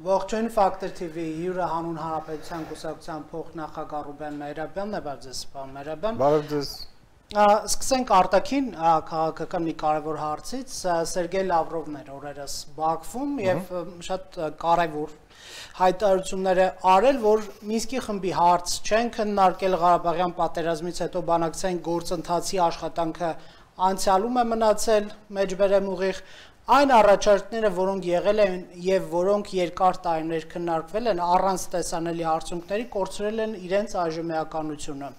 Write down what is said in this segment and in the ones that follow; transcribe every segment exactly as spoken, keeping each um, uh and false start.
Ողջույն Factor T V հյուրը հանուն Հանրապետության կուսակցության փոխնախագահ Ռուբեն Մեհրաբյանն է, բարև ձեզ, պարոն Մեհրաբյան։ Բարև ձեզ։ Սկսենք արտաքին քաղաքական մի կարևոր հարցից, Սերգեյ Լավրովն էր օրերս Բաքվում եւ շատ կարևոր հայտարարություններ է արել, որ Մինսկի խմբի հարց չեն քննարկել Ղարաբաղյան պատերազմից հետո բանակցային գործընթացի աշխատանքը անցյալում է մնացել մեջբերեմ ուղիղ Այն առաջարկները, որոնք եղել են եւ որոնք երկար տարիներ քննարկվել են առանց տեսանելի արդյունքների, կորցրել են իրենց այժմեականությունը։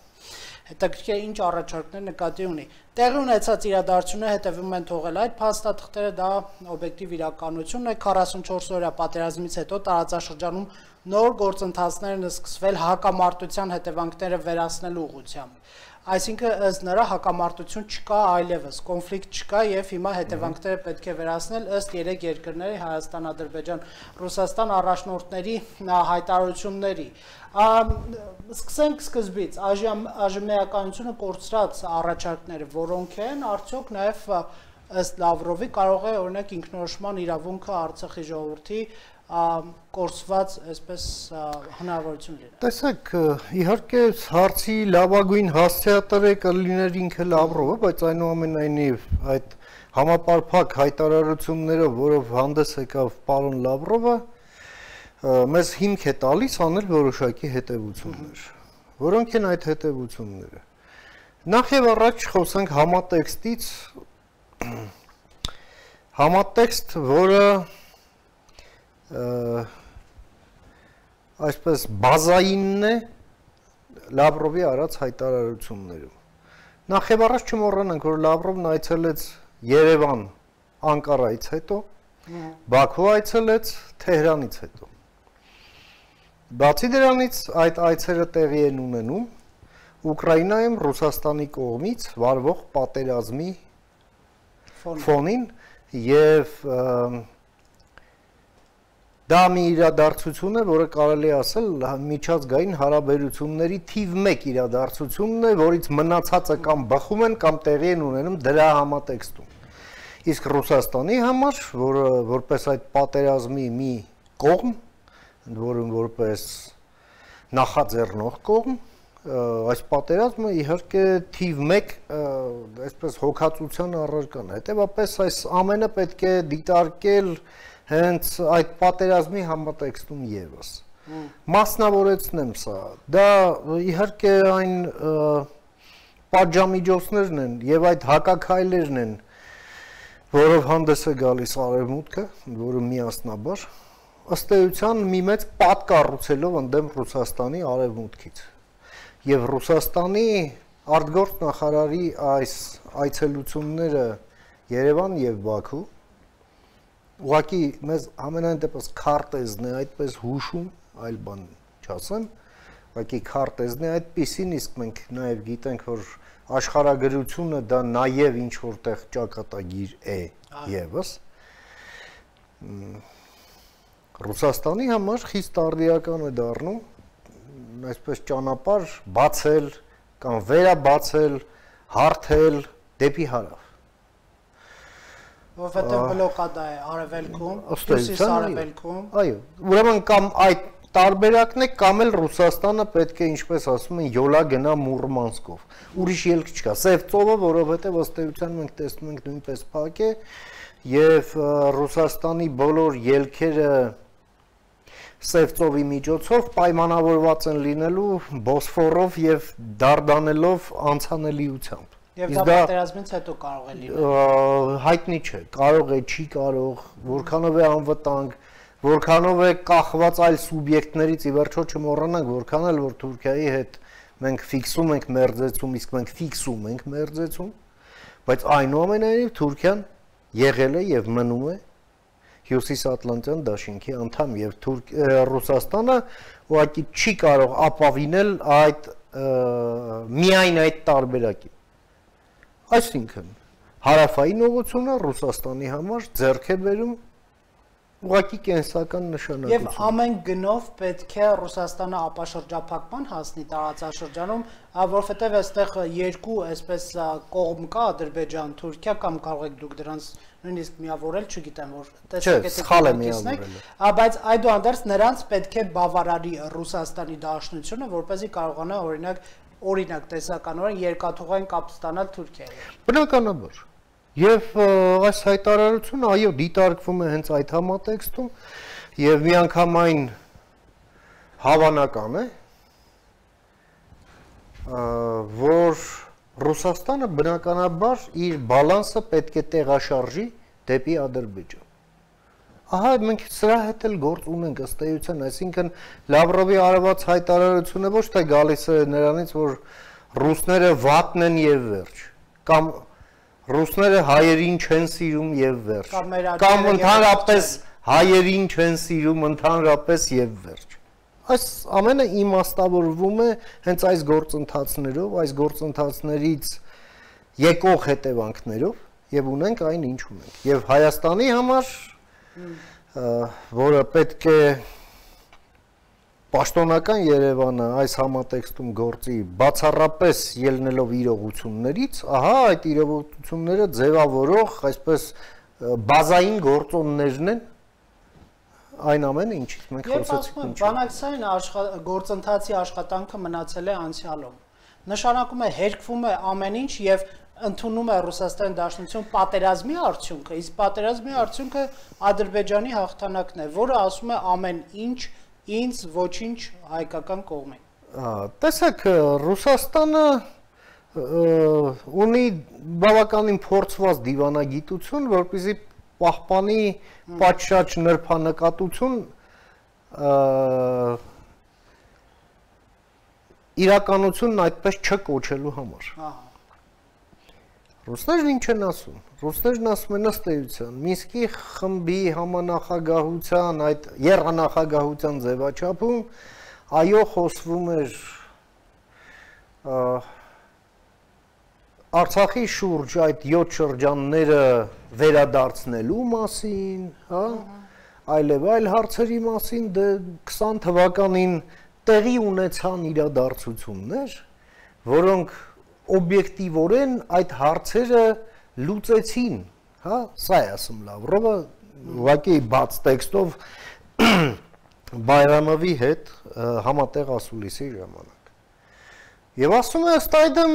Հետաքրքիր ինչ առաջարկներ նկատի ունի։ Տեղի ունեցած իրադարձությունները հետևում են թողել այդ փաստաթղթերը, դա օբյեկտիվ իրականություն է, քառասունչորս օրյա պատերազմից հետո տարածաշրջանում նոր գործընթացներ են սկսվել հակամարտության հետևանքները վերացնելու ուղղությամբ։ Այսինքն ըստ նրա հակամարտություն չկա այլևս, կոնֆլիկտ չկա եւ հիմա հետևանքները պետք է վերացնել ըստ երեք երկրների Հայաստան, Ադրբեջան, Ռուսաստան առաջնորդների հայտարարությունների։ Սկսենք սկզբից, այժմեականությունը կորցրած առաջարկները որոնք են, արդյոք նաեւ ըստ Լավրովի կարող է օրինակ ինքնորոշման իրավունքը Արցախի ժողովրդի կորսված այսպես հնարավորություն լինի։ Տեսեք, իհարկե հարցի լավագույն հասցեատերը կլիներ ինքը Լավրովը, բայց այնուամենայնիվ այդ համապարփակ հայտարարություններով, որով հանդես եկավ պարոն Լավրովը, մեզ հիմք է տալիս անել որոշակի հետևություններ։ Որոնք են այդ հետևությունները։ Նախ եւ առաջ խոսենք համատեքստից, համատեքստ, որը այսպես բազայինն է Լավրովի արած հայտարարություններում։ Նախ եւ առաջ չմոռանանք, որ Լավրովն այցելեց Երևան Անկարայից հետո, Բաքու այցելեց Թեհրանից հետո։ Բացի դրանից այդ այցերը տեղի են ունենում Ուկրաինայում Ռուսաստանի կողմից վարվող պատերազմի ֆոնին եւ Դա մի իրադարձություն է, որը կարելի ասել միջազգային հարաբերությունների թիվ մեկ իրադարձությունն է, որից մնացածը կամ բխում են, կամ տեղի են ունենում դրա համատեքստում։ Իսկ Ռուսաստանի համար, որը որպես այդ պատերազմի մի կողմ, որը որպես նախաձեռնող կողմ, այս պատերազմը իհարկե թիվ մեկ այսպես հոգացության առարկան է։ Հետևաբար այս ամենը պետք է դիտարկել հենց այդ պատերազմի համատեքստում եւս։ Մասնավորեցնեմ սա։ Դա իհարկե այն պատժամիջոցներն են եւ այդ հակաքայլերն են, որով հանդես է գալիս Արևմուտքը, որը միասնաբար ըստ էության մի մեծ պատ կառուցելով ընդդեմ Ռուսաստանի Արևմուտքից։ Եվ Ռուսաստանի արտգործ նախարարի այս այցելությունները Երևան եւ Բաքու Ուղղակի մեզ ամենայն դեպս քարտեզն է այդպես հուշում, այլ բան չասեմ, ուղղակի քարտեզն է այդպիսին, իսկ մենք նաև գիտենք, որ աշխարհագրությունը դա նաև ինչ որտեղ ճակատագիր է եւս։ Ռուսաստանի համար խիստ արդիական է դառնում այսպես ճանապարհ բացել կամ վերաբացել, հարթել դեպի հարավ։ Որովհետև բլոկադա է արևելքում, հյուսիս արևելքում։ Այո, ուրեմն կամ այդ տարբերակն է, կամ էլ Ռուսաստանը պետք է, ինչպես ասում են, յոլա գնա Մուրմանսկով։ Ուրիշ ելք չկա։ Սև ծովը, որովհետև ըստ էության մենք տեսնում ենք նույնպես փակ է, եւ Ռուսաստանի բոլոր ելքերը Սև ծովի միջոցով պայմանավորված են լինելու Բոսֆորով եւ Դարդանելով անցանելիությամբ։ Եվ դա պատերազմից հետո կարող է լինել։ Հայտնի չէ, կարող է, չի կարող, որքանով է անվտանգ, որքանով է կախված այլ սուբյեկտներից, ի վերջո չմոռանանք, որքան էլ որ Թուրքիայի հետ մենք ֆիքսում ենք մերձեցում, իսկ մենք ֆիքսում ենք մերձեցում, բայց այնուամենայնիվ Թուրքիան եղել է եւ մնում է Հյուսիսատլանտյան դաշինքի անդամ եւ Ռուսաստանը ուղղակի չի կարող ապավինել այդ միայն այդ տարբերակի։ Այսինքն հարավային ուղղությունը Ռուսաստանի համար ձեռք է բերում ուղղակի կենսական նշանակություն։ Եվ ամեն գնով պետք է Ռուսաստանը ապաշրջափակման հասնի տարածաշրջանում, որովհետև այստեղ երկու այսպես կողմ կա, Ադրբեջան, Թուրքիա, կամ կարող եք դուք դրանց նույնիսկ միավորել, չգիտեմ, որ տեսակետը, բայց այդուհանդերձ նրանց պետք է բավարարի Ռուսաստանի Դաշնությունը, որպեսզի կարողանա օրինակ օրինակ տեսականորեն երկաթուղային կապ ստանալ Թուրքիայի։ Բնականաբար։ Եվ այս հայտարարությունը այո դիտարկվում է հենց այդ համատեքստում եւ միանգամայն հավանական է որ Ռուսաստանը բնականաբար իր բալանսը պետք է տեղաշարժի դեպի Ադրբեջան։ Ահա մենք սրա հետ էլ գործ ունենք ըստ էության, այսինքն Լավրովի արված հայտարարությունը ոչ թե գալիս է նրանից, որ ռուսները վատն են եւ վերջ, կամ ռուսները հայերին չեն սիրում եւ վերջ, կամ ընդհանրապես հայերին չեն սիրում ընդհանրապես եւ վերջ։ Այս ամենը իմաստավորվում է հենց այս գործընթացներով, այս գործընթացներից եկող հետևանքներով եւ ունենք այն ինչ ունենք։ Եվ Հայաստանի համար, որը պետք է պաշտոնական Երևանը այս համատեքստում գործի բացառապես ելնելով իրողություններից, ահա այդ իրողությունները ձևավորող այսպես բազային գործոններն են այն ամենը ինչից մենք խոսեցինք։ Եվ բանակցային գործընթացի աշխատանքը մնացել է անցյալում։ Նշանակում է հերկվում է ամեն ինչ եւ ընդունում է Ռուսաստանի Դաշնություն պատերազմի արդյունքը, իսկ պատերազմի արդյունքը Ադրբեջանի հաղթանակն է, որը ասում է ամեն ինչ ինձ ոչինչ հայկական կողմին։ Տեսեք, Ռուսաստանը ունի բավականին փորձված դիվանագիտություն, որպեսզի պահպանի պատշաճ նրբանկատություն իրականությունն այդպես չկոչելու համար։ Ռուսներն ինչ են ասում։ Ռուսներն ասում են ըստ էության Մինսկի խմբի համանախագահության այդ եռանախագահության ձևաչափում այո խոսվում էր Արցախի շուրջ այդ յոթ շրջանները վերադարձնելու մասին, հա, այլև այլ հարցերի մասին, դե քսան թվականին տեղի ունեցան իրադարձություններ, որոնք օբյեկտիվորեն այդ հարցերը լուծեցին, հա, սա է ասում Լավրովը, ուղղակի բաց տեքստով Բայրամովի հետ համատեղ ասուլիսի ժամանակ։ Եվ ասում է ըստ այդմ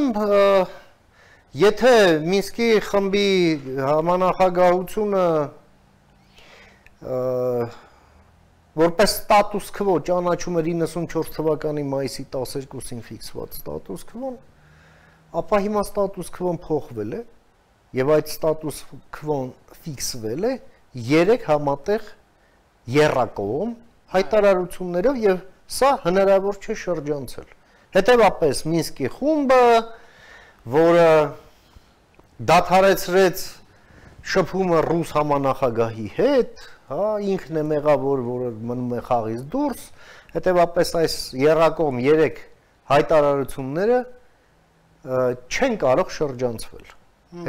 Եթե Մինսկի խմբի համանախագահությունը որպես ստատուս քվո ճանաչում էր իննսունչորս թվականի մայիսի տասներկուսին ֆիքսված ստատուս քվոն, ապա հիմա ստատուս քվոն փոխվել է եւ այդ ստատուս քվոն ֆիքսվել է երեք համատեղ եռակողմ հայտարարություններով եւ սա հնարավոր չէ շրջանցել։ Հետևաբար Մինսկի խումբը որը դադարեցրեց շփումը ռուս համանախագահի հետ, հա, ինքն է մեղավոր, որը մնում է խաղից դուրս, հետևաբար այս եռակողմ երեք հայտարարությունները չեն կարող շրջանցվել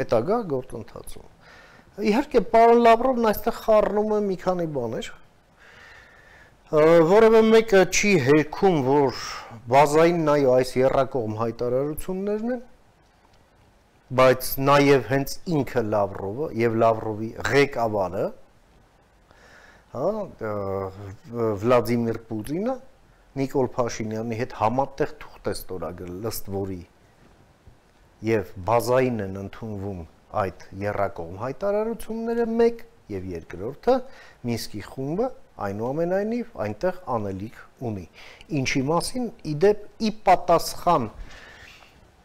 հետագա գործընթացում։ Իհարկե, պարոն Լավրովն այստեղ խառնում է մի քանի բաներ, որևէ մեկը չի հերքում, որ բազային այո այս եռակողմ հայտարարություններն են, բայց նաև հենց ինքը Լավրովը եւ Լավրովի ղեկավարը, հա, Վլադիմիր Պուտինը Նիկոլ Փաշինյանի հետ համատեղ թուղթ է ստորագրել, ըստ որի եւ բազային են ընդունվում այդ եռակողմ հայտարարությունները մեկ եւ երկրորդը Մինսկի խումբը այնուամենայնիվ այնտեղ անելիք ունի։ Ինչի մասին իդեպ ի պատասխան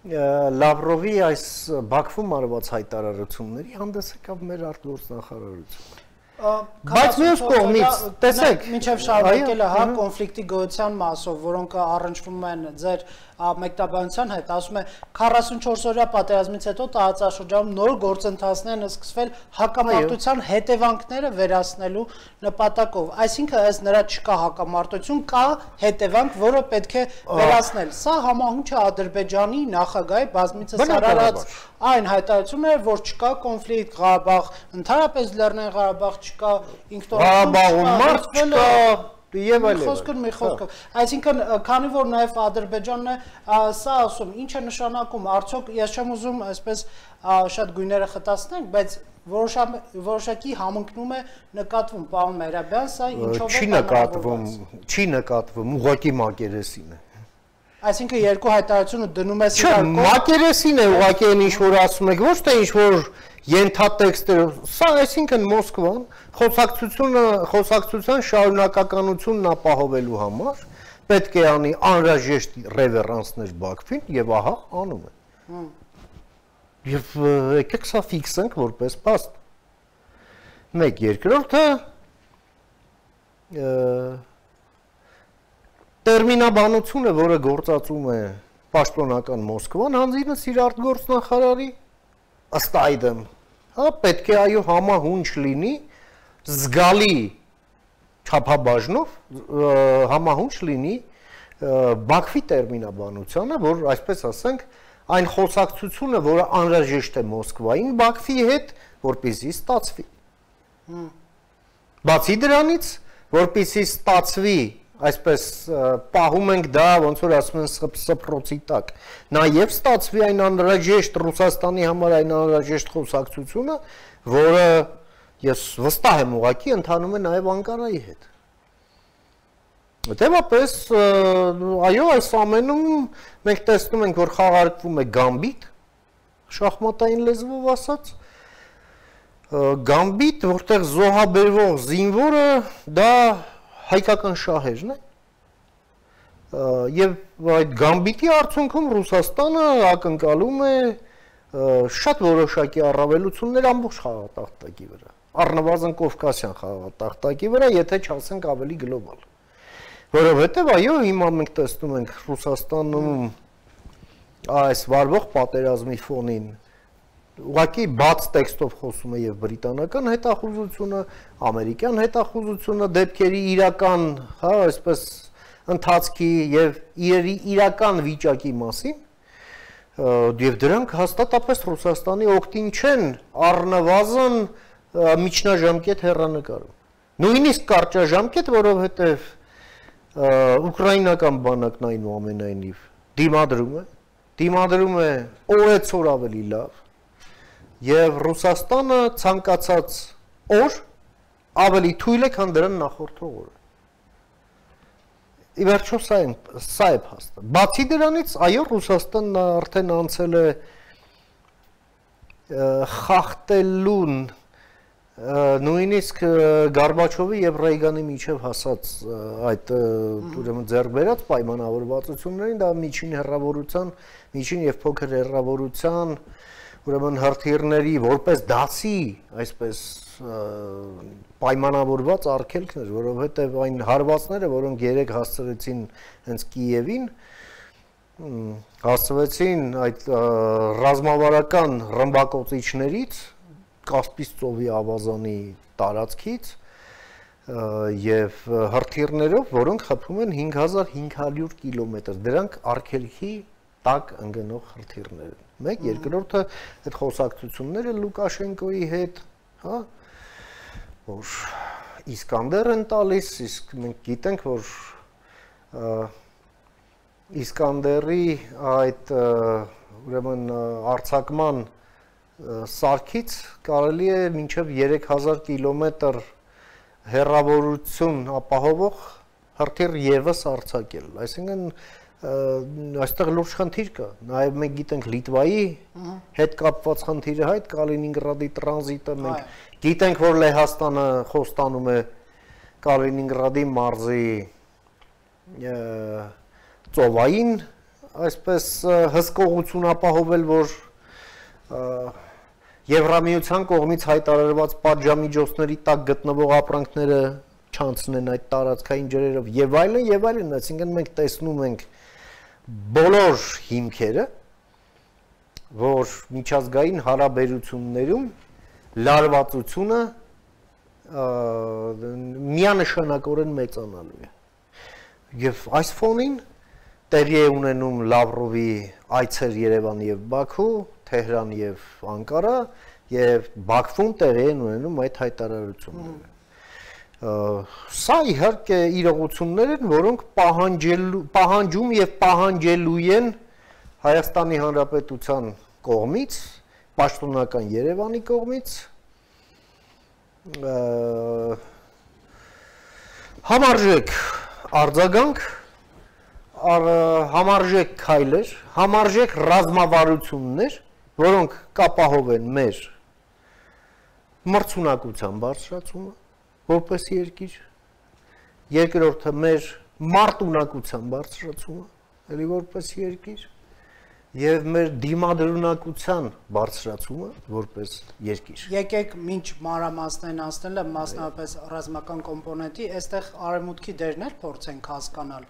Լավրովի այս Բաքվում արված հայտարարությունների հանդես եկավ մեր արտգործնախարարությունը։ Բայց մյուս կողմից, տեսեք, մինչև շարունակելը հա կոնֆլիկտի գոյության մասով, որոնք առնչվում են ձեր մեկնաբանության հետ, ասում է քառասունչորս օրյա պատերազմից հետո տարածաշրջանում նոր գործընթացներ են սկսվել հակամարտության հետևանքները վերացնելու նպատակով։ Այսինքն ըստ նրա չկա հակամարտություն, կա հետևանք, որը պետք է վերացնել։ Սա համահունչ է Ադրբեջանի նախագահի բազմիցս արարած այն հայտարարությունները, որ չկա կոնֆլիկտ Ղարաբաղ, ընդհանրապես Լեռնային Ղարաբաղ չկա ինքնորոշում, Եվ այլ խոսքը մի խոսքը։ Այսինքն, քանի որ նաև Ադրբեջանն է սա ասում, ինչ է նշանակում, արդյոք ես չեմ ուզում այսպես շատ գույները խտացնենք, բայց որոշակի համընկնում է նկատվում, պարոն Մերաբյան, սա ինչով է չի նկատվում, չի նկատվում, ուղղակի մակերեսին է։ Այսինքն երկու հայտարարությունը դնում է Չէ, մակերեսին է ուղղակի այն ինչ որ ասում եք, ոչ թե ինչ որ ենթատեքստերով, սա այսինքն Մոսկվան խոսակցությունը, խոսակցության շարունակականությունն ապահովելու համար պետք է անի անհրաժեշտ ռևերանսներ Բաքվին եւ ահա անում է։ Եվ եկեք սա ֆիքսենք որպես փաստ։ Մեկ երկրորդը տերմինաբանությունը, որը գործածում է պաշտոնական Մոսկվան, հանձինս իր արտգործնախարարի ըստ այդմ, հա, պետք է այո համահունչ լինի զգալի չափաբաժնով համահունչ լինի Բաքվի տերմինաբանությանը, որ այսպես ասենք, այն խոսակցությունը, որը անհրաժեշտ է Մոսկվային Բաքվի հետ, որպեսզի ստացվի։ Բացի դրանից, որպեսզի ստացվի, այսպես պահում ենք դա, ոնց որ ասում են սփռոցի տակ, նաև ստացվի այն անհրաժեշտ Ռուսաստանի համար այն անհրաժեշտ խոսակցությունը, որը ես վստահ եմ ուղղակի ընթանում է նաև Անկարայի հետ։ Հետևաբար, այո, այս ամենում մենք տեսնում ենք, որ խաղարկվում է գամբիտ, շախմատային լեզվով ասած, գամբիտ, որտեղ զոհաբերվող զինվորը դա հայկական շահերն է, և այդ գամբիտի արդյունքում Ռուսաստանը ակնկալում է շատ որոշակի առավելություններ ամբողջ խաղատախտակի վրա, առնվազն Կովկասյան խաղատախտակի վրա, եթե չասենք ավելի գլոբալ։ Որովհետև այո, հիմա մենք տեսնում ենք Ռուսաստանում այս վարվող պատերազմի ֆոնին ուղղակի բաց տեքստով խոսում է եւ բրիտանական հետախուզությունը, ամերիկյան հետախուզությունը դեպքերի իրական, հա, այսպես ընթացքի եւ իրերի իրական վիճակի մասին, եւ դրանք հաստատապես Ռուսաստանի օգտին չեն առնվազն միջնաժամկետ հեռանկարում։ Նույնիսկ կարճաժամկետ, որովհետեւ ուկրաինական բանակն այնուամենայնիվ դիմադրում է, դիմադրում է օրեցօր ավելի լավ։ Եվ Ռուսաստանը ցանկացած օր ավելի թույլ է, քան դրան նախորդող օրը։ Ի վերջո սա է, սա է փաստը։ Բացի դրանից, այո, Ռուսաստանն արդեն անցել է խախտելուն նույնիսկ Գորբաչովի եւ Ռեյգանի միջև հասած այդ ուրեմն ձեռք բերած պայմանավորվածություններին, դա միջին հեռավորության, միջին եւ փոքր հեռավորության ուրեմն հրթիռների որպես դասի, այսպես պայմանավորված արգելքներ, որովհետև այն հարվածները, որոնք երեք հասցրեցին հենց Կիևին, հասցվեցին այդ ռազմավարական ռմբակոծիչներից, Կասպից ծովի ավազանի տարածքից եւ հրթիռներով, որոնք խփում են հինգ հազար հինգ հարյուր կիլոմետր, դրանք արգելքի տակ ընկնող հրթիռներ են։ Մեկ, երկրորդը այդ խոսակցությունները Լուկաշենկոյի հետ, հա, որ Իսկանդեր են տալիս, իսկ մենք գիտենք, որ Իսկանդերի այդ ուրեմն արձակման սարքից կարելի է մինչև երեք հազար կիլոմետր հեռավորություն ապահովող հրթիռ եւս արձակել։ Այսինքն այստեղ լուրջ խնդիր կա, նաև մենք գիտենք Լիտվայի հետ կապված խնդիրը հայտ Կալինինգրադի տրանզիտը, մենք գիտենք, որ Լեհաստանը խոստանում է Կալինինգրադի մարզի ծովային, այսպես հսկողություն ապահովել, որ Եվրամիության կողմից հայտարարված պատժամիջոցների տակ գտնվող ապրանքները չանցնեն այդ տարածքային ջրերով եւ այլն եւ այլն, այսինքն մենք տեսնում ենք բոլոր հիմքերը, որ միջազգային հարաբերություններում լարվածությունը միանշանակորեն մեծանալու է։ Եվ այս ֆոնին տեղի է ունենում Լավրովի այցեր Երևան եւ Բաքու, Թեհրան եւ Անկարա եւ Բաքվում տեղի են ունենում այդ հայտարարությունները։ Սա իհարկե իրողություններ են, որոնք պահանջելու պահանջում եւ պահանջելու են Հայաստանի Հանրապետության կողմից, պաշտոնական Երևանի կողմից համարժեք արձագանք, համարժեք քայլեր, համարժեք ռազմավարություններ, որոնք կապահովեն մեր մրցունակության բարձրացումը որպես երկիր, երկրորդը մեր մարտունակության բարձրացումը, էլի որպես երկիր, եւ մեր դիմադրունակության բարձրացումը որպես երկիր։ Եկեք մինչ մանրամասներն անցնելը, մասնավորապես ռազմական կոմպոնենտի, այստեղ արևմուտքի դերներ փորձենք հասկանալ,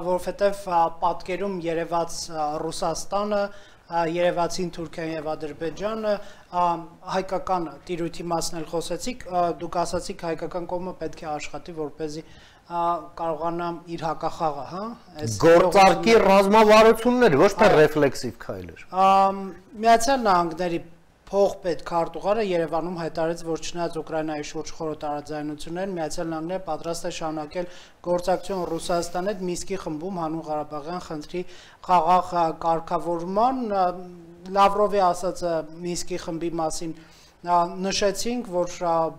որովհետեւ պատկերում երևաց Ռուսաստանը, երևացին Թուրքիան եւ Ադրբեջանը, հայկական տիրույթի մասն էլ խոսեցիք, դուք ասացիք հայկական կողմը պետք է աշխատի, որպեսզի կարողանա իր հակախաղը, հա, գործարկի ռազմավարություններ, ոչ թե ռեֆլեքսիվ քայլեր։ Միացյալ Նահանգների փոխպետ քարտուղարը Երևանում հայտարարեց, որ չնայած Ուկրաինայի շուրջ խորը տարաձայնություններ, Միացյալ Նահանգները պատրաստ է շարունակել գործակցություն Ռուսաստանի հետ Մինսկի խմբում հանուն Ղարաբաղյան խնդրի խաղաղ կարգավորման, Լավրովի ասածը Մինսկի խմբի մասին նշեցինք, որ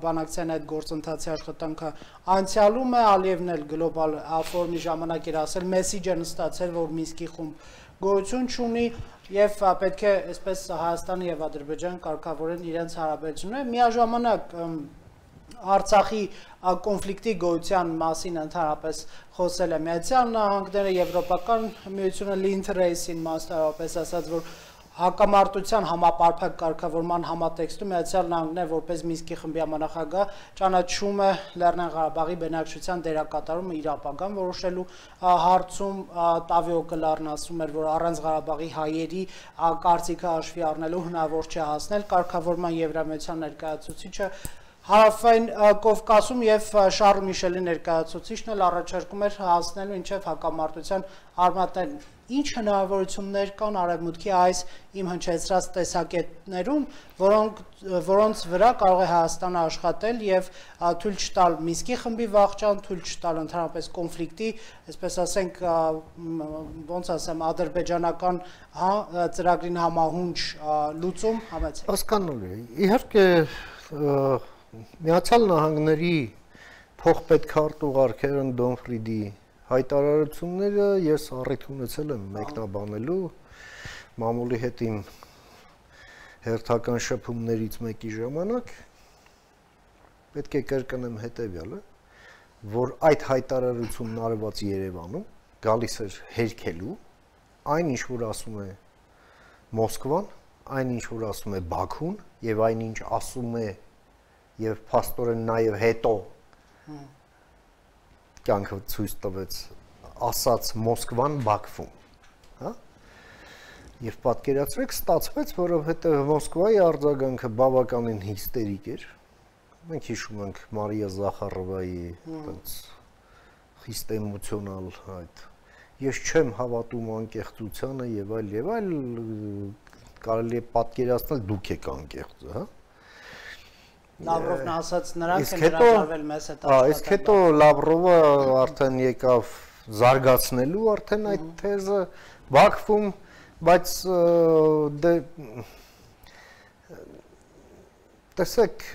բանակցային այդ գործընթացի աշխատանքը անցյալում է, Ալիևն էլ գլոբալ ֆորումի ժամանակ էր ասել, մեսիջ են ստացել, որ Մինսկի խումբ գոյություն չունի եւ պետք է այսպես Հայաստանը եւ Ադրբեջանը կարգավորեն իրենց հարաբերությունները, միաժամանակ Արցախի կոնֆլիկտի գոյության մասին ընդհանրապես խոսել է Միացյալ Նահանգները, Եվրոպական միությունը Լինդ Ռեյսին մասնավորապես ասաց, որ հակամարտության համապարփակ կարգավորման համատեքստում Միացյալ Նահանգները որպես Մինսկի խմբի համանախագահ ճանաչում է Լեռնային Ղարաբաղի բնակչության դերակատարումը իր ապագան որոշելու հարցում, Տավիո Կլարն ասում էր, որ առանց Ղարաբաղի հայերի կարծիքը հաշվի առնելու հնարավոր չէ հասնել կարգավորման Եվրամիության ներկայացուցիչը Հարավային Կովկասում եւ Շարլ Միշելի ներկայացուցիչն էլ առաջարկում էր հասնելու ինչեւ հակամարտության արմատներն Ինչ հնարավորություններ կան արևմուտքի այս իմ հնչեցրած տեսակետներում, որոնք որոնց վրա կարող է Հայաստանը աշխատել եւ թույլ չտալ Մինսկի խմբի վախճան, թույլ չտալ ընդհանրապես կոնֆլիկտի, այսպես ասենք, ոնց ասեմ, ադրբեջանական հա ծրագրին համահունչ լուծում համեցեք։ Հասկանալի է։ Իհարկե Միացյալ Նահանգների փոխպետ քարտուղար Քերեն Դոնֆրիդի հայտարարությունները ես առիթ ունեցել եմ մեկնաբանելու մամուլի հետ իմ հերթական շփումներից մեկի ժամանակ պետք է կրկնեմ հետևյալը, որ այդ հայտարարությունն արված Երևանում գալիս էր հերքելու այն ինչ որ ասում է Մոսկվան, այն ինչ որ ասում է Բաքուն եւ այն ինչ ասում է եւ փաստորեն նաեւ հետո կյանքը ցույց տվեց ասած Մոսկվան Բաքվում, հա? Եվ պատկերացրեք ստացվեց, որովհետեւ Մոսկվայի արձագանքը բավականին հիստերիկ էր։ Մենք հիշում ենք Մարիա Զախարովայի այդպես խիստ էմոցիոնալ այդ ես չեմ հավատում անկեղծությանը եւ այլ եւ այլ կարելի է պատկերացնել դուք եք անկեղծը, հա? Լավրովն ասաց նրանք են հրաժարվել մեզ հետ աշխատել։ Իսկ հետո Լավրովը արդեն եկավ զարգացնելու արդեն այդ թեզը Բաքվում, բայց դե տեսեք,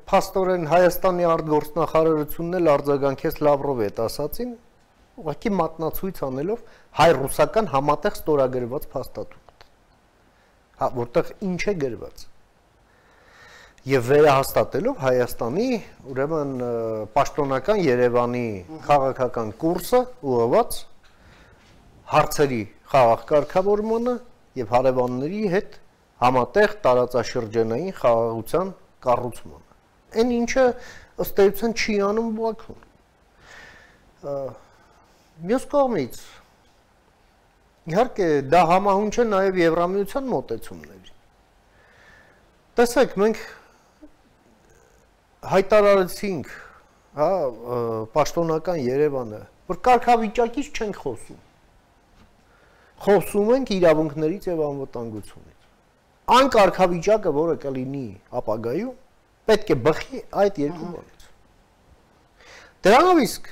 փաստորեն Հայաստանի արտգործնախարարությունն էլ արձագանքեց Լավրովի հետ ասացին, ուղղակի մատնացույց անելով հայ-ռուսական համատեղ ստորագրված փաստաթուղթ։ Հա, որտեղ ինչ է գրված։ Եվ վերահաստատելով Հայաստանի, ուրեմն պաշտոնական Երևանի քաղաքական կուրսը ուղղված հարցերի խաղաղ կարգավորմանը եւ հարևանների հետ համատեղ տարածաշրջանային խաղաղության կառուցմանը։ Այն ինչը ըստ էության չի անում Բաքուն։ Մյուս կողմից իհարկե դա համահունչ է նաեւ Եվրամիության մոտեցումների։ Տեսեք, մենք հայտարարեցինք, հա, պաշտոնական Երևանը, որ կարգավիճակից չենք խոսում։ Խոսում ենք իրավունքներից եւ անվտանգությունից։ այն կարգավիճակը, որը կլինի ապագայում, պետք է բխի այդ երկու բանից։ Դրանով իսկ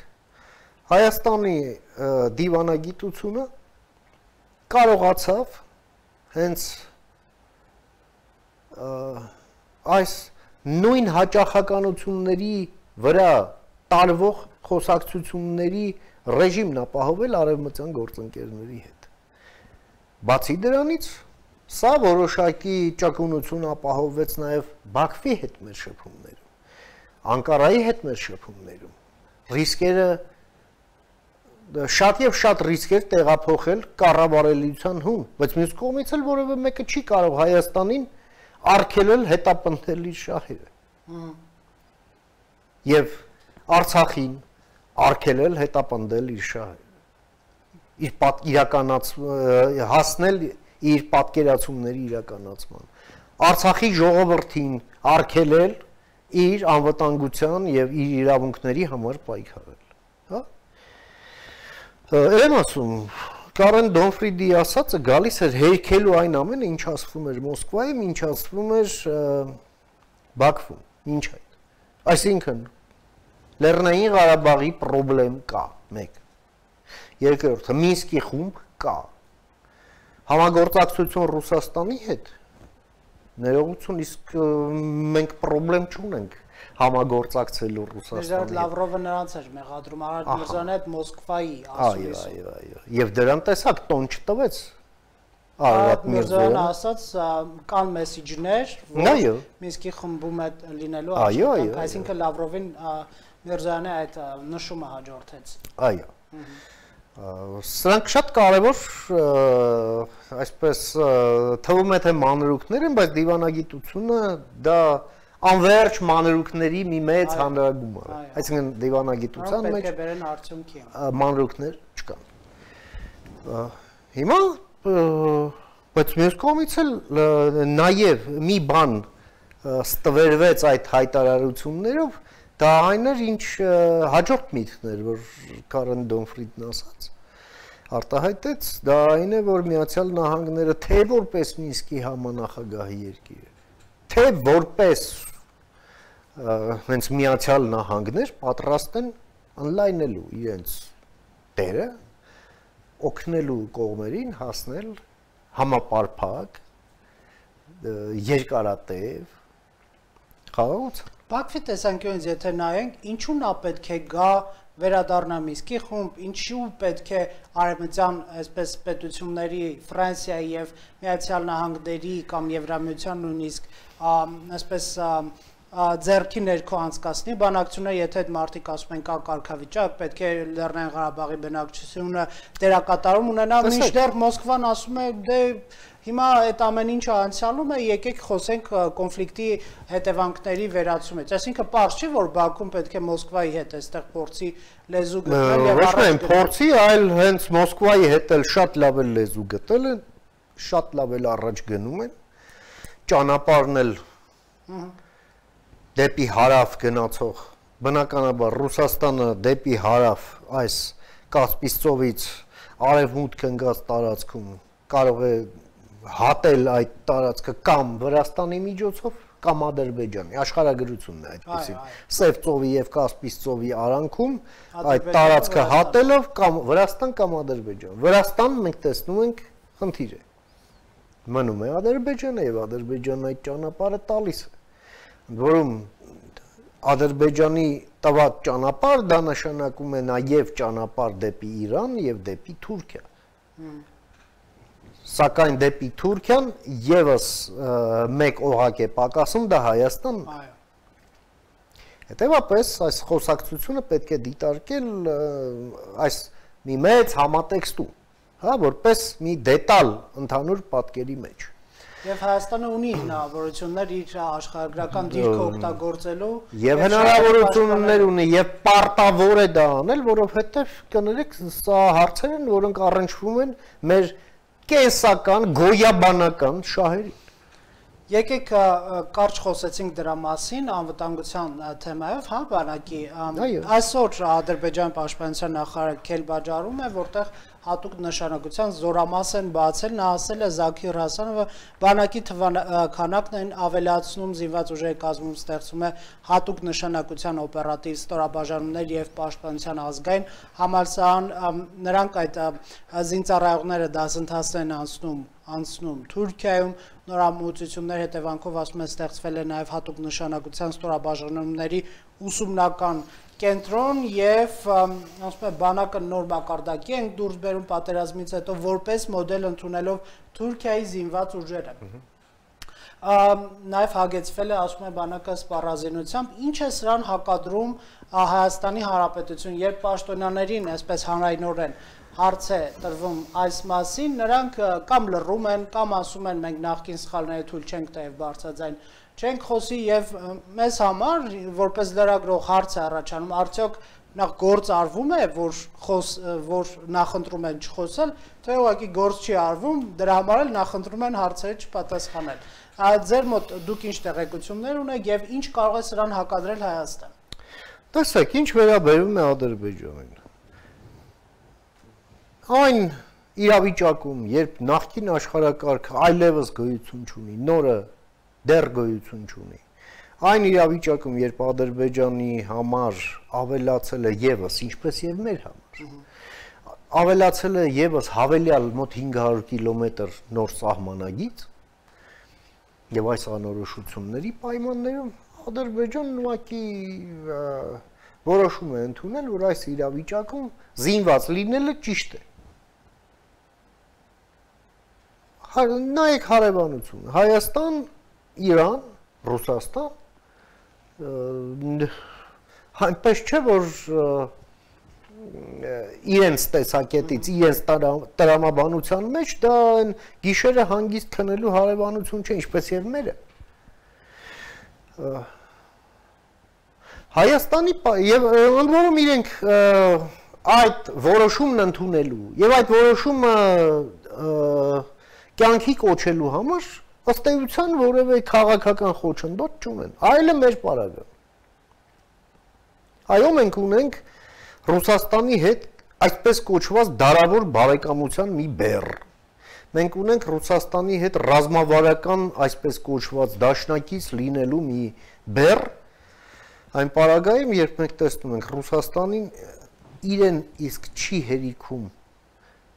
Հայաստանի դիվանագիտությունը կարողացավ հենց այս նույն հաճախականությունների վրա տարվող խոսակցությունների ռեժիմն ապահովել արևմտյան գործընկերների հետ։ Բացի դրանից, սա որոշակի ճկունություն ապահովվեց նաև Բաքվի հետ մեր շփումներում, Անկարայի հետ մեր շփումներում, ռիսկերը շատ եւ շատ ռիսկեր տեղափոխել կառավարելիության հուն, բայց մյուս կողմից էլ որևէ մեկը չի կարող Հայաստանին արգելել հետապնդել իր շահերը։ Եվ Արցախին արգելել հետապնդել իր շահերը։ Իր իրականաց հասնել իր պատկերացումների իրականացման։ Արցախի ժողովրդին արգելել իր անվտանգության եւ իր իրավունքների համար պայքարել, հա։ Եմ ասում, Կարեն Դոնֆրիդի ասածը գալիս էր հերքելու այն ամենը, ինչ ասվում էր Մոսկվայում, ինչ ասվում էր Բաքվում, ինչ այդ։ Այսինքն Լեռնային Ղարաբաղի խնդրեմ կա, մեկ։ Երկրորդը Մինսկի խումբ կա։ Համագործակցություն Ռուսաստանի հետ ներողություն, իսկ մենք խնդրեմ չունենք համագործակցելու Ռուսաստանի հետ։ Լավրովը նրանց էր մեղադրում Արարատ Միրզոյանի հետ Մոսկվայի ասուլիսում։ Այո, այո, այո։ Եվ դրան տեսակ տոն չտվեց Արարատ Միրզոյանը ասաց կան մեսիջներ, որ Մինսկի խմբում է լինելու աշխատանք, այսինքն Լավրովին Միրզոյանի այդ նշումը հաջորդեց։ Այո։ Սրանք շատ կարևոր, այսպես թվում է թե մանրուքներ են, բայց դիվանագիտությունը դա անվերջ մանրուքների մի մեծ հանրագումար է։ Այսինքն դիվանագիտության մեջ պետք է բերեն արդյունքի մանրուքներ չկան։ Հիմա բայց մյուս կողմից էլ նաև մի բան ստվերվեց այդ հայտարարություններով, դա այն էր, ինչ հաջորդ միտքն էր, որ Կարեն Դոնֆրիդն ասաց, արտահայտեց, դա այն է, որ Միացյալ Նահանգները թե որպես Մինսկի համանախագահի երկիր է, թե որպես հենց Միացյալ Նահանգներ պատրաստ են ընդլայնելու իրենց դերը, օգնելու կողմերին հասնել համապարփակ, երկարատև խաղաղության։ Բաքվի տեսանկյունից եթե նայենք, ինչու նա պետք է գա վերադառնա Մինսկի խումբ, ինչու պետք է արևմտյան այսպես պետությունների Ֆրանսիայի եւ Միացյալ Նահանգների կամ Եվրամիության նույնիսկ այսպես ձեռքի ներքո անցկացնի բանակցությունը, եթե այդ մարդիկ ասում են կա կարգավիճակ, պետք է Լեռնային Ղարաբաղի բնակչությունը դերակատարում ունենա, մինչդեռ Մոսկվան ասում է դե հիմա այդ ամեն ինչը անցյալում է, եկեք խոսենք կոնֆլիկտի հետևանքների վերացումից։ Այսինքն պարզ չի, որ Բաքուն պետք է Մոսկվայի հետ այստեղ փորձի լեզու գտնել եւ ոչ միայն փորձի, այլ հենց Մոսկվայի հետ էլ շատ լավ էլ լեզու գտել են, շատ լավ էլ առաջ գնում են, ճանապարհն էլ դեպի հարավ գնացող, բնականաբար Ռուսաստանը դեպի հարավ այս Կասպից ծովից արևմուտք ընկած տարածքում կարող է հատել այդ տարածքը կամ Վրաստանի միջոցով կամ Ադրբեջանի, աշխարհագրությունն է այդպեսին, Սև ծովի եւ Կասպից ծովի արանքում այդ տարածքը հատելով կամ Վրաստան կամ Ադրբեջան։ Վրաստան մենք տեսնում ենք խնդիր է։ Մնում է Ադրբեջանը եւ Ադրբեջանն այդ ճանապարհը տալիս է։ Որում Ադրբեջանի տված ճանապարհ դա նշանակում է նաև ճանապարհ դեպի Իրան եւ դեպի Թուրքիա։ Սակայն դեպի Թուրքիան եւս մեկ օղակ է պակասում, դա Հայաստանն է։ Հետևաբար այս խոսակցությունը պետք է դիտարկել այս մի մեծ համատեքստում, հա, որպես մի դետալ ընդհանուր պատկերի մեջ։ Եվ Հայաստանը ունի հնարավորություններ իր աշխարհագրական դիրքը օգտագործելու եւ հնարավորություններ ունի եւ պարտավոր է դա անել, որովհետեւ կներեք սա հարցեր են, որոնք առնչվում են մեր կենսական գոյաբանական շահերին։ Եկեք կարճ խոսեցինք դրա մասին անվտանգության թեմայով, հա, բանակի այսօր Ադրբեջանի պաշտպանության նախարար Քելբաջարում է, որտեղ հատուկ նշանակության զորամաս են բացել, նա ասել է Զաքիր Հասանովը, բանակի քանակն են ավելացնում, զինված ուժերի կազմում ստեղծում է հատուկ նշանակության օպերատիվ ստորաբաժանումներ եւ պաշտպանության ազգային համալսարան, նրանք այդ զինծառայողները դասընթացներ են անցնում անցնում Թուրքիայում, նորամուծություններ հետևանքով ասում է ստեղծվել է նաև հատուկ նշանակության ստորաբաժանումների ուսումնական կենտրոն եւ ասում է բանակը նոր մակարդակի են դուրս բերում պատերազմից հետո որպես մոդել ընդունելով Թուրքիայի զինված ուժերը։ Նաև հագեցվել է ասում է բանակը սպառազինությամբ, ինչ է սրան հակադրում Հայաստանի Հանրապետություն, երբ պաշտոնյաներին այսպես հանրայնորեն հարց է տրվում այս մասին, նրանք կամ լռում են, կամ ասում են մենք նախկին սխալները թույլ չենք տա եւ բարձրաձայն չենք խոսի եւ մեզ համար որպես լրագրող հարց է առաջանում, արդյոք նախ գործ արվում է, որ խոս որ նախընտրում են չխոսել, թե ուղղակի գործ չի արվում, դրա համար էլ նախընտրում են հարցերը չպատասխանել։ Ձեր մոտ դուք ինչ տեղեկություններ ունեք եւ ինչ կարող է սրան հակադրել Հայաստան։ Տեսեք, ինչ վերաբերում է Ադրբեջանին։ Այն իրավիճակում, երբ նախկին աշխարհակարգը այլևս գոյություն չունի, նորը դեռ գոյություն չունի, այն իրավիճակում, երբ Ադրբեջանի համար ավելացել է եւս, ինչպես եւ մեր համար, ավելացել է եւս հավելյալ մոտ հինգ հարյուր կիլոմետր նոր սահմանագիծ եւ այս անորոշությունների պայմաններում Ադրբեջանն ուղղակի որոշում է ընդունել, որ այս իրավիճակում զինված լինելը ճիշտ է։ Նայեք հարևանություն, Հայաստան, Իրան, Ռուսաստան, այնպես չէ, որ իրենց տեսակետից, իրենց տրամաբանության մեջ դա գիշերը հանգիստ քնելու հարևանություն չէ, ինչպես եւ մերը։ Հայաստանի եւ ընդ որում իրենք այդ որոշումն ընդունելու եւ այդ որոշումը կյանքի կոչելու համար ըստ էության որևէ քաղաքական խոչընդոտ չունեն, այլ է մեր պարագան։ Այո, մենք ունենք Ռուսաստանի հետ այսպես կոչված դարավոր բարեկամության մի բեռ։ Մենք ունենք Ռուսաստանի հետ ռազմավարական այսպես կոչված դաշնակից լինելու մի բեռ, այն պարագայում, երբ մենք տեսնում ենք Ռուսաստանին իրեն իսկ չի հերիքում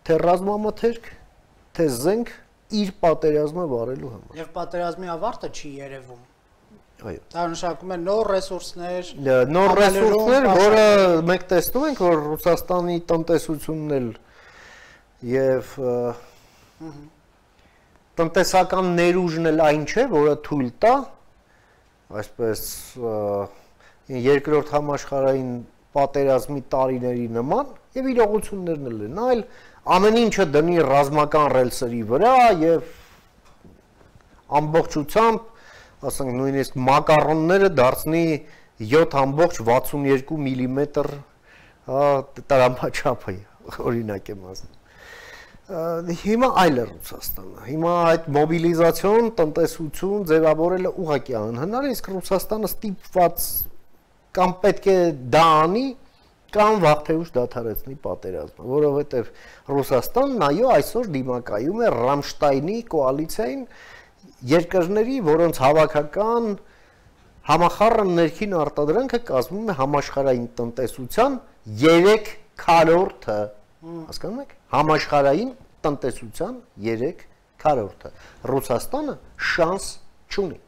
թե ռազմամթերք, թե զենք իր պատերազմը վարելու համար։ Եվ պատերազմի ավարտը չի երևում։ Այո։ Դա նշանակում է նոր ռեսուրսներ, նոր ռեսուրսներ, որը մենք տեսնում ենք, որ Ռուսաստանի տնտեսությունն էլ եւ տնտեսական ներուժն էլ այն չէ, որը թույլ տա այսպես երկրորդ համաշխարհային պատերազմի տարիների նման եւ իրողություններն էլ են, այլ ամեն ինչը դնի ռազմական ռելսերի վրա եւ ամբողջությամբ, ասենք նույնիսկ մակարոնները դարձնի յոթ վաթսուն երկու միլիմետր տրամաչափը, օրինակ եմ ասում։ Հիմա այլ է Ռուսաստանը։ Հիմա այդ մոբիլիզացիոն տնտեսություն ձևավորելը ուղղակի անհնար է, իսկ Ռուսաստանը ստիպված կամ պետք է դա անի, կամ վաղ թե ուշ դադարեցնի պատերազմը, որովհետև Ռուսաստանն այո այսօր դիմակայում է Ռամշտայնի կոալիցիային երկրների, որոնց հավաքական համախառն ներքին արտադրանքը կազմում է համաշխարհային տնտեսության երեք քառորդը, հասկանում եք, համաշխարհային տնտեսության երեք քառորդը, Ռուսաստանը շանս չունի,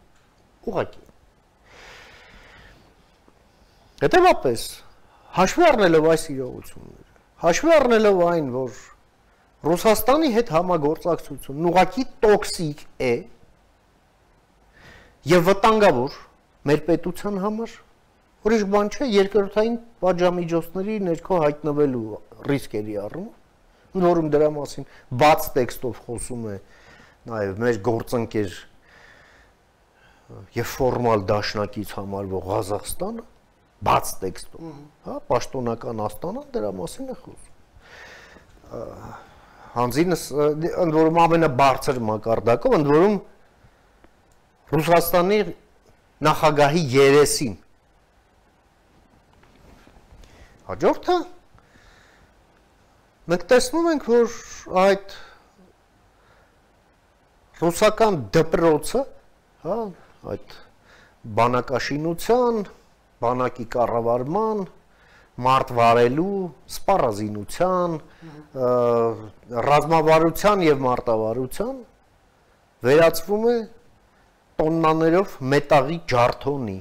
ուղղակի։ Հետևաբար հաշվի առնելով այս իրողությունները, հաշվի առնելով այն, որ Ռուսաստանի հետ համագործակցությունն ուղղակի տոքսիկ է եւ վտանգավոր մեր պետության համար, ուրիշ բան չէ, երկրորդային պատժամիջոցների ներքո հայտնվելու ռիսկերի առումով, որում դրա մասին բաց տեքստով խոսում է նաեւ մեր գործընկեր եւ ֆորմալ դաշնակից համարվող Ղազախստանը, բաց տեքստով, հա, պաշտոնական Աստանան դրա մասին է խոսում։ Հանձինս ընդ որում ամենաբարձր մակարդակով, ընդ որում Ռուսաստանի նախագահի երեսին։ Հաջորդը Մենք տեսնում ենք, որ այդ ռուսական դպրոցը, հա, այդ բանակաշինության, բանակի կառավարման, մարդ վարելու, սպառազինության, ռազմավարության եւ մարտավարության վերածվում է տոննաներով մետաղի ջարդոնի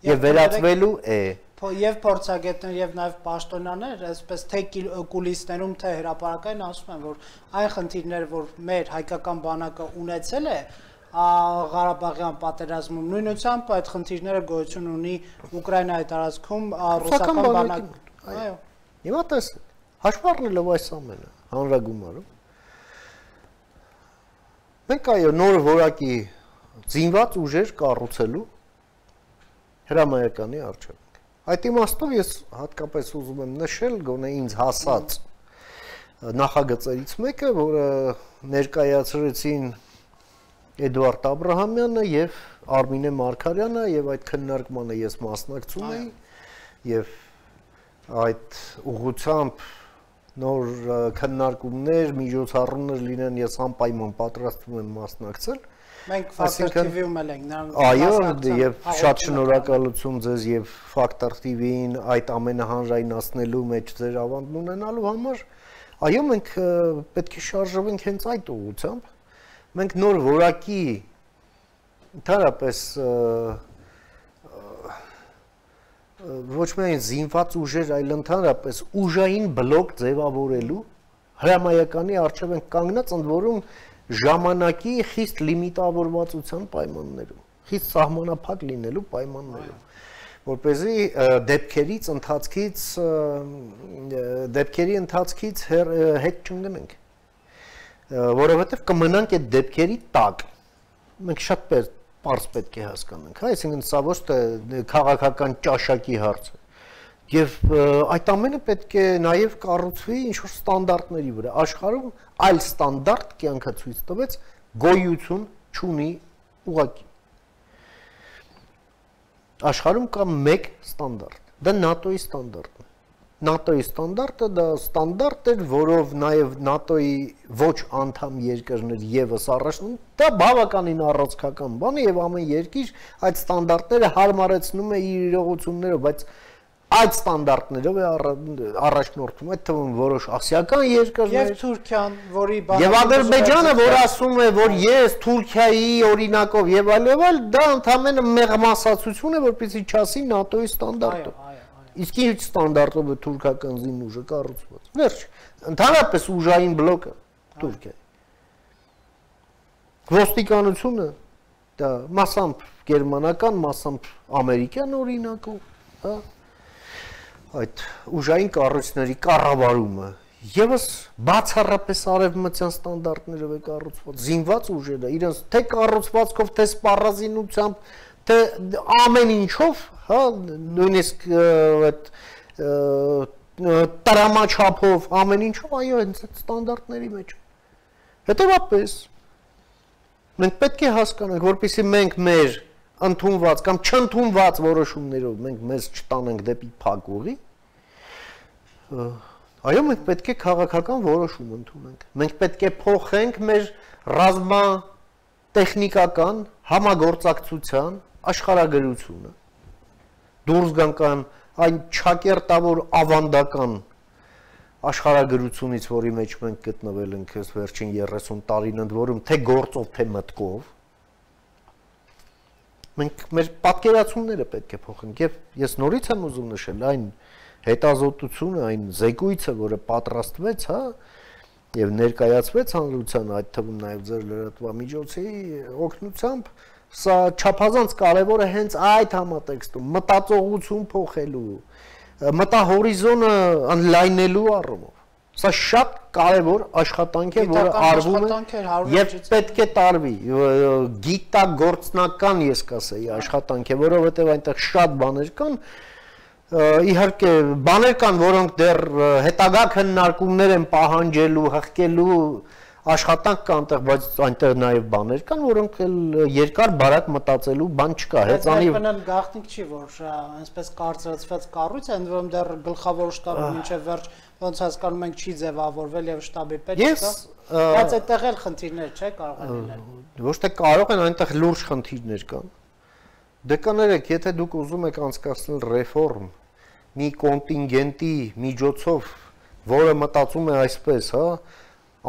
եւ վերածվելու է եւ փորձագետներ եւ նաեւ պաշտոնյաներ, այսպես թե կուլիսներում, թե հրապարակային ասում են, որ այն խնդիրները, որ մեր հայկական բանակը ունեցել է Ղարաբաղյան պատերազմում, նույնությամբ այդ խնդիրները գոյություն ունի Ուկրաինայի տարածքում ռուսական բանակ։ Այո։ Հիմա տեսեք, հաշվի առնելով այս ամենը, հանրագումարում, մենք այո նոր որակի զինված ուժեր կառուցելու հրամայականի առջև ենք։ Այդ իմաստով ես հատկապես ուզում եմ նշել գոնե ինձ հասած նախագծերից մեկը, որը ներկայացրեցին Էդուարդ Աբրահամյանը եւ Արմինե Մարգարյանը եւ այդ քննարկմանը ես մասնակցում էի եւ այդ ուղղությամբ նոր քննարկումներ, միջոցառումներ լինեն, ես անպայման պատրաստվում եմ մասնակցել։ Մենք Factor T V-ում էլ ենք նրանք։ Այո, եւ շատ շնորհակալություն ձեզ եւ Factor T V-ին այդ ամենը հանրայնացնելու մեջ ձեր ավանդն ունենալու համար։ Այո, մենք պետք է շարժվենք հենց այդ ուղղությամբ։ Մենք նոր որակի ընդհանրապես ոչ միայն զինված ուժեր, այլ ընդհանրապես ուժային բլոկ ձևավորելու հրամայականի առջև ենք կանգնած, ընդ որում ժամանակի խիստ լիմիտավորվածության պայմաններում, խիստ սահմանափակ լինելու պայմաններում, որպեսզի դեպքերից ընթացքից դեպքերի ընթացքից հետ չընկնենք, որովհետև կմնանք այդ դեպքերի տակ։ Մենք շատ պարզ պետք է հասկանանք, հա, այսինքն սա ոչ թե քաղաքական ճաշակի հարց է։ Եվ այդ ամենը պետք է նաև կառուցվի ինչ-որ ստանդարտների վրա։ Աշխարհում այլ ստանդարտ կյանքը ցույց տվեց գոյություն չունի ուղղակի։ Աշխարհում կա մեկ ստանդարտ, դա ՆԱՏՕ-ի ստանդարտն է։ ՆԱՏՕ-ի ստանդարտը դա ստանդարտ էր, որով նաև ՆԱՏՕ-ի ոչ անդամ երկրներ եւս առաջնում, դա բավականին առանցքական բան է եւ ամեն երկիր այդ ստանդարտները հարմարեցնում է իր իրողություններով, բայց այդ ստանդարտներով է առաջնորդում, այդ թվում որոշ ասիական երկրներ եւ Թուրքիան, որի եւ Ադրբեջանը, որ ասում է, որ ես Թուրքիայի օրինակով եւ այլ եւ այլ, դա ընդհանրապես մեղմասացություն է, որպեսզի չասի ՆԱՏՕ-ի ստանդարտը։ Իսկ ինչ ստանդարտով է թուրքական զինուժը կառուցված։ Վերջ, ընդհանրապես ուժային բլոկը Թուրքիա։ Ոստիկանությունը դա մասամբ գերմանական, մասամբ ամերիկյան օրինակով, հա, այդ ուժային կառույցների կառավարումը եւս բացառապես արևմտյան ստանդարտներով է կառուցված, զինված ուժերը իրենց թե կառուցվածքով, թե սպառազինությամբ, թե ամեն ինչով, հա, նույնիսկ այդ տրամաչափով, ամեն ինչով, այո, հենց այդ ստանդարտների մեջ։ Հետևաբար մենք պետք է հասկանանք, որպեսզի մենք մեր ընդունված կամ չընդունված որոշումներով մենք մեզ չտանենք դեպի փակ ուղի, այո, մենք պետք է քաղաքական որոշում ընդունենք։ Մենք պետք է փոխենք մեր ռազմատեխնիկական համագործակցության աշխարհագրությունը, դուրս գանք այն չակերտավոր ավանդական աշխարհագրությունից, որի մեջ մենք գտնվել ենք այս վերջին երեսուն տարին, ընդ որում թե գործով, թե մտքով, մենք մեր պատկերացումները պետք է փոխենք եւ ես նորից եմ ուզում նշել այն հետազոտությունը, այն զեկույցը, որը պատրաստվեց, հա, եւ ներկայացվեց հանրությանը, այդ թվում նաեւ ձեր լրատվամիջոցի օգնությամբ, սա չափազանց կարեւոր է հենց այդ համատեքստում մտածողություն փոխելու, մտահորիզոնը ընդլայնելու առումով։ Սա շատ կարևոր աշխատանք է, որը արվում է եւ պետք է տարվի, գիտագործնական ես կասեի աշխատանք է, որովհետեւ այնտեղ շատ բաներ կան, իհարկե բաներ կան, որոնք դեռ հետագա քննարկումներ են պահանջելու, հղկելու, աշխատանք կա այնտեղ, բայց այնտեղ նաև բաներ կան, որոնք երկար բարակ մտածելու բան չկա, հեծանի բնան գաղտնիք չի, որ այսպես կարծրացված կառույց է, ընդ որում դեռ գլխավոր շտաբը մինչև վերջ ոնց հասկանում ենք չի ձևավորվել եւ շտաբի պետք կա, բայց այդտեղ էլ խնդիրներ չէ կարող են լինել։ Ոչ թե կարող են, այնտեղ լուրջ խնդիրներ կան։ Դե կներեք, եթե դուք ուզում եք անցկացնել ռեֆորմ մի կոնտինգենտի միջոցով, որը մտածում է այսպես, հա,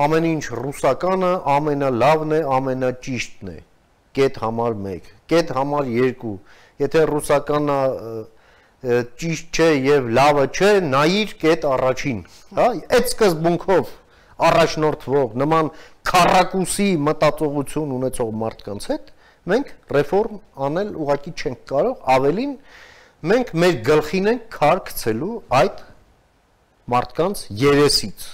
ամեն ինչ ռուսականը ամենալավն է, ամենաճիշտն է, կետ համար մեկ, կետ համար երկու, եթե ռուսականը ճիշտ չէ եւ լավը չէ, նայիր կետ առաջին, հա, այդ սկզբունքով առաջնորդվող նման քառակուսի մտածողություն ունեցող մարդկանց հետ մենք ռեֆորմ անել ուղղակի չենք կարող, ավելին մենք մեր գլխին ենք քար գցելու այդ մարդկանց երեսից։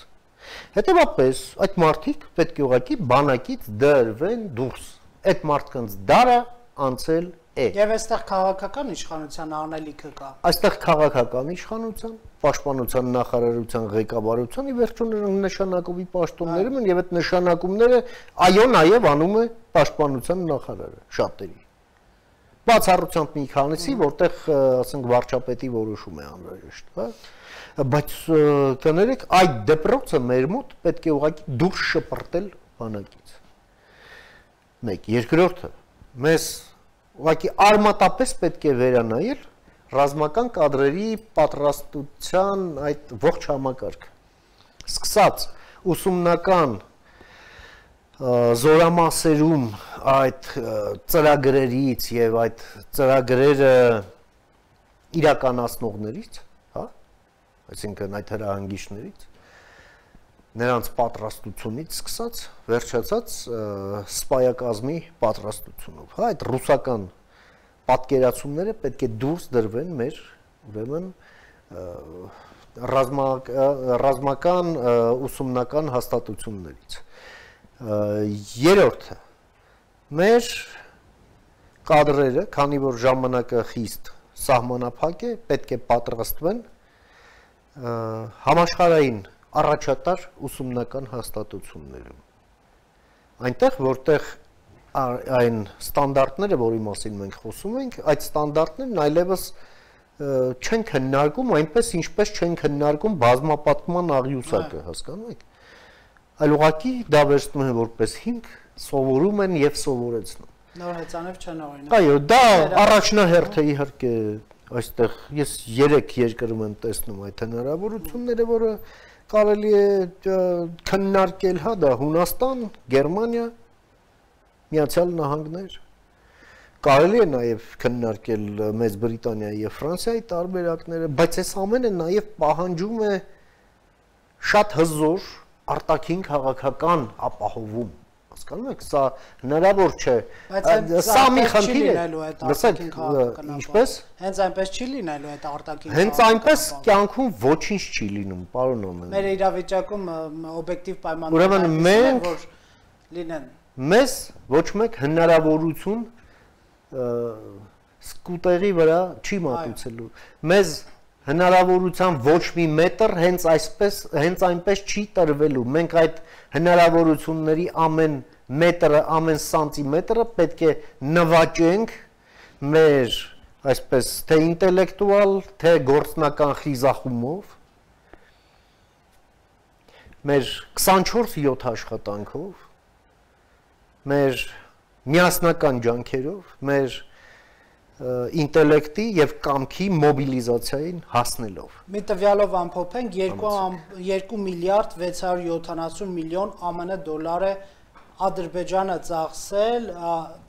Հետևաբար այդ մարդիկ պետք է ուղղակի բանակից դրվեն դուրս։ Այդ մարդկանց դարը անցել է։ Եվ այստեղ քաղաքական իշխանության անելիքը կա։ Այստեղ քաղաքական իշխանության, պաշտպանության նախարարության ղեկավարության ի վերջո նշանակովի պաշտոններում են եւ այդ նշանակումները այո նաեւ անում է պաշտպանության նախարարը շատերի։ Բացառությամբ մի քանիսի, որտեղ ասենք վարչապետի որոշում է անհրաժեշտ, հա։ Բայց կներեք, այդ դեպրոցը մեր մոտ պետք է ուղղակի դուրս շպրտել բանակից։ Մեկ, երկրորդը, մեզ ուղղակի արմատապես պետք է վերանայել ռազմական կադրերի պատրաստության այդ ողջ համակարգը։ Սկսած ուսումնական զորամասերում այդ ծրագրերից եւ այդ ծրագրերը իրականացնողներից, հա, այսինքն այդ հրահանգիչներից, նրանց պատրաստությունից սկսած, վերջացած սպայակազմի պատրաստությունով, հա, այդ ռուսական պատկերացումները պետք է դուրս դրվեն մեր, ուրեմն, ռազմական ուսումնական հաստատություններից։ Երրորդը, մեր կադրերը, քանի որ ժամանակը խիստ սահմանափակ է, պետք է պատրաստվեն համաշխարհային առաջատար ուսումնական հաստատություններում։ Այնտեղ, որտեղ այն ստանդարտները, որի մասին մենք խոսում ենք, այդ ստանդարտներն այլևս չեն քննարկում այնպես, ինչպես չեն քննարկում բազմապատկման աղյուսակը, հասկանում եք։ Այլ ուղղակի դա վերցնում են որպես հիմք, սովորում են եւ սովորեցնում։ Նոր հեծանիվ չեն օրինակ։ Այո, դա առաջնահերթ է իհարկե այստեղ ես երեք երկրում եմ տեսնում այդ հնարավորությունները, որը կարելի է քննարկել, հա, դա Հունաստան, Գերմանիա, Միացյալ Նահանգներ, կարելի է նաև քննարկել Մեծ Բրիտանիայի եւ Ֆրանսիայի տարբերակները, բայց այս ամենը նաև պահանջում է շատ հզոր արտաքին քաղաքական ապահովում, հասկանում եք, սա հնարավոր չէ, սա մի խնդիր է, լսեք, ինչպես, հենց այնպես չի լինելու այդ արտաքին հենց այնպես կյանքում ոչինչ չի լինում, պարոն Օմեն։ Մեր իրավիճակում օբյեկտիվ պայմաններ ուրեմն մենք որ լինեն մեզ ոչ մեկ հնարավորություն սկուտերի վրա չի մատուցելու, մեզ հնարավորության ոչ մի մետր հենց այսպես, հենց այնպես չի տրվելու, մենք այդ հնարավորությունների ամեն մետրը, ամեն սանտիմետրը պետք է նվաճենք մեր, այսպես, թե ինտելեկտուալ, թե գործնական խիզախումով, մեր քսանչորս յոթ աշխատանքով, մեր միասնական ջանքերով, մեր ինտելեկտի եւ կամքի մոբիլիզացիային հասնելով։ Մի տվյալով ամփոփենք երկու միլիարդ վեց հարյուր յոթանասուն միլիոն ԱՄՆ դոլար է Ադրբեջանը ծախսել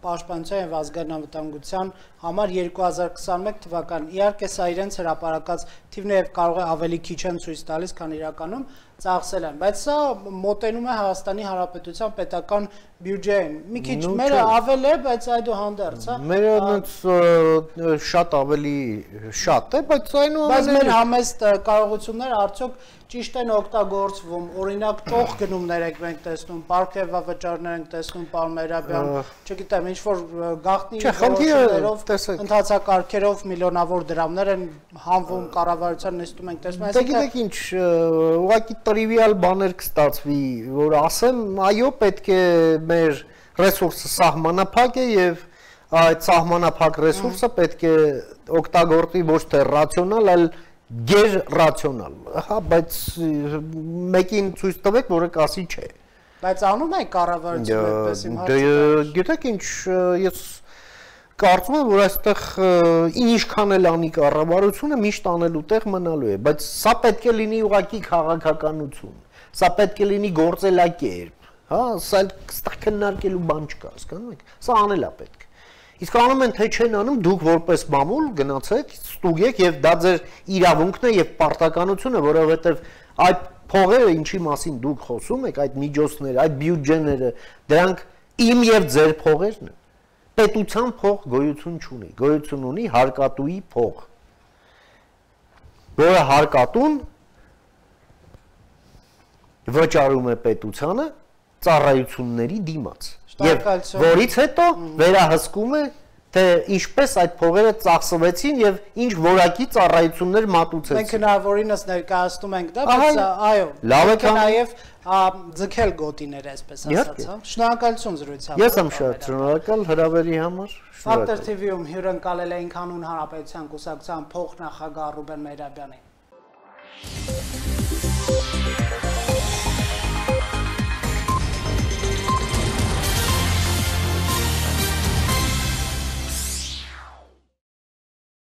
պաշտպանության եւ ազգային անվտանգության համար երկու հազար քսաներեք թվականին։ Իհարկե սա իրենց հրապարակած թիվն է եւ կարող է ավելի քիչ են ցույց տալիս, քան իրականում ծախսել են, բայց սա մոտենում է Հայաստանի Հանրապետության պետական բյուջեին։ Մի քիչ մերը ավել է, բայց այդուհանդերձ, հա։ Մերը այնց շատ ավելի շատ է, բայց այնուամենայնիվ բայց մեր համեստ կարողությունները արդյոք ճիշտ են օգտագործվում, օրինակ ճոխ գնումներ ենք մենք տեսնում, պարգևավճարներ ենք տեսնում, պարոն Մերաբյան, չգիտեմ, ինչ որ գաղտնի որոշումներով, ընթացակարգերով միլիոնավոր դրամներ են հանվում կառավարության նիստում ենք տեսնում, այսինքն դե գիտեք ինչ, ուղղակի տրիվիալ բաներ կստացվի, որ ասեմ, այո, պետք է մեր ռեսուրսը սահմանափակ է եւ այդ սահմանափակ ռեսուրսը պետք է օգտագործի ոչ թե ռացիոնալ, այլ գեր-ռացիոնալ։ Հա, բայց մեկին ցույց տվեք, որը կասի չէ։ Բայց անում եք կառավարությունը այդպես իմ հարցը։ Գիտեք ինչ, ես կարծում եմ, որ այստեղ ինչքան էլ անի կառավարությունը միշտ անելու տեղ մնալու է, բայց սա պետք է լինի ուղղակի քաղաքականություն։ Սա պետք է լինի գործելակերպ, հա, սա այստեղ քննարկելու բան չկա, հասկանում եք։ Սա անել է պետք։ Իսկ անում են թե չեն անում, դուք որպես մամուլ գնացեք, ստուգեք եւ դա ձեր իրավունքն է եւ պարտականությունը, որովհետեւ այդ փողերը, ինչի մասին դուք խոսում եք, այդ միջոցները, այդ բյուջեները, դրանք իմ եւ ձեր փողերն են։ Պետության փող գոյություն չունի, գոյություն ունի հարկատուի փող, որը հարկատուն վճարում է պետությանը ծառայությունների դիմաց։ Եվ որից հետո վերահսկում է, թե ինչպես այդ փողերը ծախսվեցին եւ ինչ որակի ծառայություններ մատուցեցին։ Մենք հնարավորինս ներկայացնում ենք դա, բայց այո, լավ է նաեւ ձգել գոտիներ, այսպես ասած, հա։ Շնորհակալություն զրույցի համար։ Ես եմ շատ շնորհակալ հրավերի համար։ Ֆակտոր թի վի-ում հյուրընկալել էինք Հանուն Հանրապետության կուսակցության փոխնախագահ Ռուբեն Մեհրաբյանին։